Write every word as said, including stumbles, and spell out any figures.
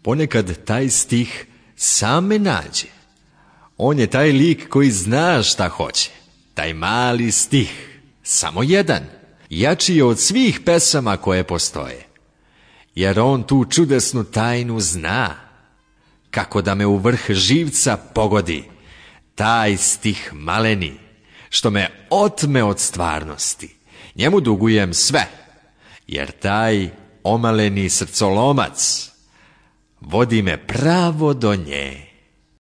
Ponekad taj stih sam me nađe. On je taj lik koji zna šta hoće. Taj mali stih, samo jedan, jači je od svih pesama koje postoje. Jer on tu čudesnu tajnu zna. Kako da me u vrh živca pogodi, taj stih maleni, što me otme od stvarnosti. Njemu dugujem sve, jer taj omaleni srcolomac vodi me pravo do nje.